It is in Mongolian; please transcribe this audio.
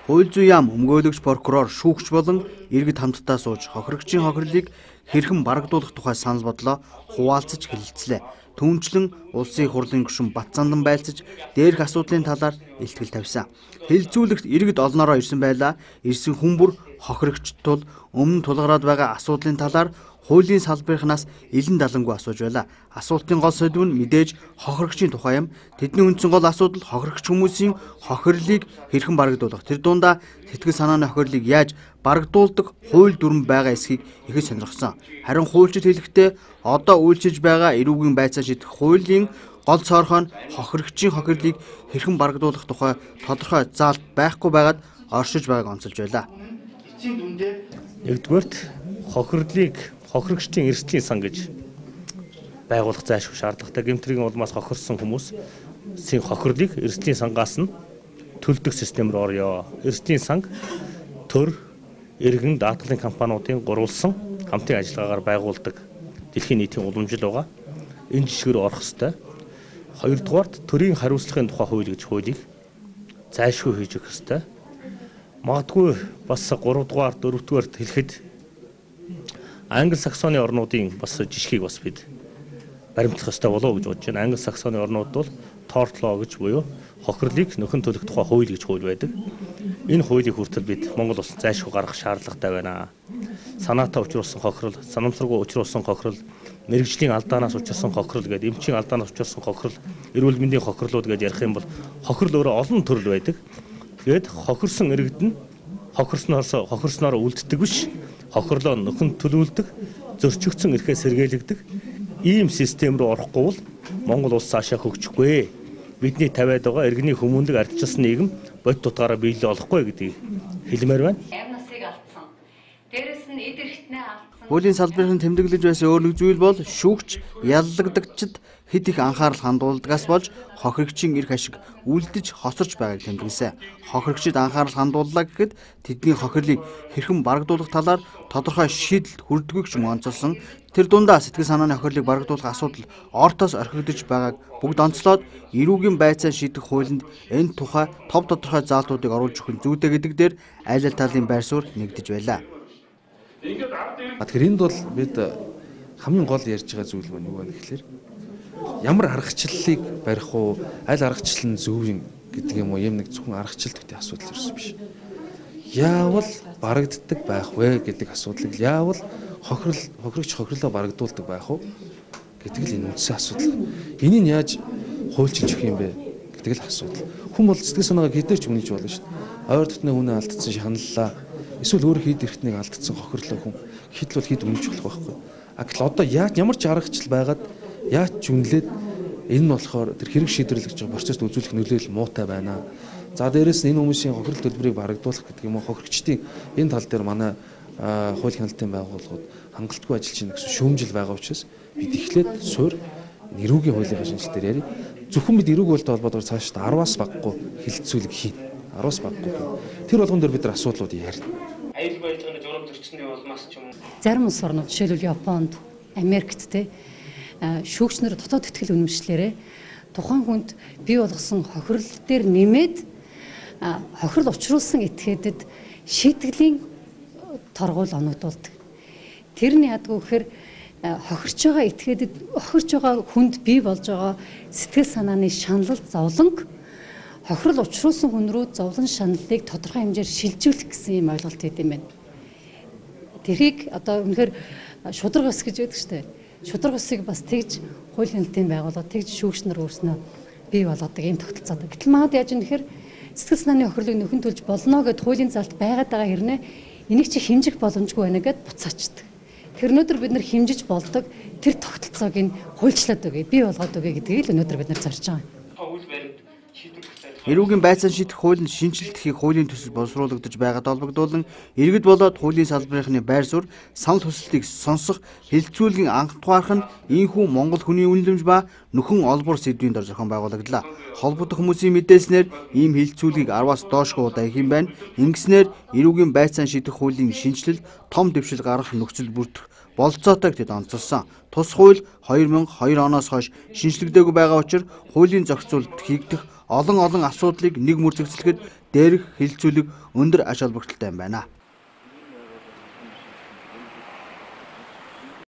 Хууль зүйн яам өмгөөлөгч прокурор шүүгч болон иргэд хамтдаа сууж хохирогчийн хохирлыг хэрхэн барагдуулах тухай санал бодлоо хуваалцаж хэлэлцлээ. Түүнчлэн улсын их хурлын гишүүн Батцандан байлцаж дээрх асуудлын талаар илтгэл тавьсан. Хэлэлцүүлэгт иргэд олноороо ирсэн байлаа. Ирсэн хүн бүр хохирогчд тул өмнө тулгараад байгаа асуудлын талаар хуулийн салбарынхнаас илэн далангүй асууж байлаа. Асуултын гол сэдв нь мэдээж хохирогчийн тухай юм. Тэдний үндсэн гол асуудал хохирогч хүмүүсийн хохирлыг хэрхэн барагдуулах. Тэр дундаа сэтгэл санааны хохирлыг яаж барагдуулдаг хууль дүрм байгаа эсхийг ихэд сонирхсон. Харин хуульчид хэлэхдээ одоо үйлчилж байгаа эрүүгийн байцаа шийдэх хуулийн гол цорхоо нь хохирогчийн хохирлыг хэрхэн барагдуулах тухай тодорхой заалт байхгүй байгаад оршиж байгааг онцолж байлаа. Нэгдүгээрт хохирогчдын эрсдлийн сан гэж байгуулах зайлшгүй шаардлагатай. Гэмтрийн улмаас хохирсон хүмүүсийн хохирлыг эрсдлийн сангаас нь төлдөг систем рүү орё. Эрсдлийн санг төр, иргэн, даатгалын компаниудын гурвалсан хамтын ажиллагаагаар байгуулдаг дэлхийн нийтийн уламжил байгаа. Энэ жишгээр орох ёстой. Хоёрдугаарт төрийн хариуцлагын тухай хууль гэж хуулийг зайлшгүй хийж өгөх ёстой. Магадгүй бас 3-дугаар, 4-дугаарт хэлэхэд Англи Саксоны орнуудын бас жишгийг бас бид баримтлах ёстой болов уу гэж бодож байна. Англи Саксоны орнууд бол tort law гэж буюу хохирлыг нөхөн төлөх тухай хууль гэж хууль байдаг. Энэ хуулийг хүртэл бид Монгол улсад зайлшгүй гаргах шаардлагатай байна. Санаатай учруулсан хохирол, санамсаргүй учруулсан хохирол, мэрэгжлийн алдаанаас учирсан хохирол гэдэг, эмчийн алдаанаас учирсан хохирол, эрүүл мэндийн хохирлууд гэж ярих юм бол хохирол өөрөө олон төрөл байдаг. Тэгээд хохирсон иргэд нь хохирсноор үлддэг биш. Хохирлоо нөхөн төлөвлөдөг, зөрчигдсөн эрхээ сэргээлэгдэг ийм систем рүү орохгүй бол Монгол улс цаашаа хөгжихгүй. Бидний тавиад байгаа иргэний хүмүүнлэг ардчилсан нийгэм бод тутгаараа биелэл олохгүй гэдгийг хэлмээр байна. Амнасыг алдсан. Дээрээс нь эд эрхтнээ алдсан. Хуулийн салбарын тэмдэглэж байсан өөр нэг зүйл бол шүүгч яллагдагчид хэд их анхаарал хандуулдагаас болж хохирогчийн эрх ашиг үлдэж хоцорч байгааг тэмдэглэсэн. Хохирогчид анхаарал хандууллаа гэхэд тэдний хохирлыг хэрхэн барагдуулах талаар тодорхой шийдэлд хүрдэггүй ч юм онцолсон. Тэр дундаа сэтгэл санааны хохирлыг барагдуулах асуудал ортоос орхигдож байгааг бүгд онцлоод эрүүгийн байцаа шийдэх хуулинд энэ тухай тодорхой заалтуудыг оруулж өгөх нь зүйтэй гэдэг дээр аль аль талын байр суурь нэгдэж байлаа. Тэгэхээр энд бол бид хамгийн гол ярьж байгаа зүйл маань юу вэ гэхээр ямар аргачлалыг барих уу, аль аргачлал нь зөв юм гэдэг юм уу, юм нэг зөвхөн аргачлал гэдэг асуудал ерөөс биш. Яавал барагддаг байх вэ гэдэг асуудлыг яавал хохирогч хохирлоо барагдуулдаг байх уу гэдэг л энэ үндсэн асуудал. Энийг яаж хуульчилж өгөх юм бэ гэдэг л асуудал. Хүн бол сэтгэл санаагаа хэдээр ч үнэлж болно шүү дээ. Ойр дотны хүнээ алдсан шаналлаа. Эсвэл өөр хэд эрхтнийг алдсан хохирлоо хүн хэд л хэд үнэлж болох байхгүй. Гэтэл одоо ямар ч аргачлал байгаад яаж ч үнэлээд энэ нь болохоор тэр хэрэг шийдвэрлэж байгаа процессд үзүүлэх нөлөөлөл муутай байна. За дээрэс нь энэ хүмүүсийн хохирол төлбөрийг барагдуулах гэдэг юм уу хохирогчдын энэ тал дээр манай хууль хяналтын байгууллагууд хангалтгүй ажиллаж байна гэсэн шүүмжил байгаа учраас бид эхлээд суур эрүүгийн хуулийн шинжилгээ дээр яри. Зөвхөн бид эрүүг болтой холбоотойгоор цааш 10-аас баггүй хилцүүлэг хийн. 10-аас баггүй. Тэр болгон дээр бид нар асуудлууд ярина. Аюулгүй ажиллагааны журам зөрчсөний улмаас ч юм уу. Зарим улс орнууд жишээлбэл Японд, Америкт шүүгчнэр дотоод итгэл үнэмшлээрээ тухайн хүнд бий болгосон хохирол дээр нэмээд хохирол учруулсан этгээдэд шийтгэлийн торгуул оногдуулдаг. Тэрний ядгүй гэхээр хохирч байгаа этгээдэд хохирч байгаа хүнд бий болж байгаа сэтгэл санааны шаналл зовлонг хохирол учруулсан хүн рүү зовлон шаналлыг тодорхой хэмжээр шилжүүлэх гэсэн юм ойлголт өгд юм байна. Тэрийг одоо үнэхээр шудраг ус гэж байдаг шүү дээ. Шудраг усыг бас тэгж хууль хяналтын байгууллага тэгж шүүгч нар өөрснөө бий болгодог юм тогтолцоод. Гэтэл манад яаж юм нэхэр сэтгэл санааны хохирлыг нөхөн төлж болно гэд хуулийн залт байгаад байгаа хэрнээ энийг чи хэмжих боломжгүй байна гэд буцаачдаг. Тэр өнөөдөр бид нар хэмжиж болдог тэр тогтолцоог нь хуульчлаад өгье, бий болгоод өгье гэдгийг л өнөөдөр бид нар зарж байгаа. Эрүүгийн байцаан шийдэх хуулинд шинжилгэхийн хуулийн төсөл боловсруулагдаж байгаад холбогдуулан иргэд болоод хуулийн салбарынхны байр суурь санал хүсэлтийг сонсох хэлэлцүүлгийн анх тухаарх нь ийхүү Монгол хүний үнэлэмж ба нөхөн олбор сэдвийн дор зохион байгуулагдлаа. Холбогдох хүмүүсийн мэдээснээр ийм хэлэлцүүлгийг 10-аас доошгүй удаа их юм байна. Ингэснээр эрүүгийн байцаан шийдэх хуулийн шинжилэл том дэвшил гаргах нөхцөл бүрдэх болцоотой гэд онцолсон. Тус хууль 2002 оноос хойш шинжилэгдээгүй байгаа учраас хуулийн зохицуулалт хийгдэх олон асуудлыг нэг мөр зэгцлэхэд дээрх хилцүүлэг өндөр ач холбогдолтой юм байна.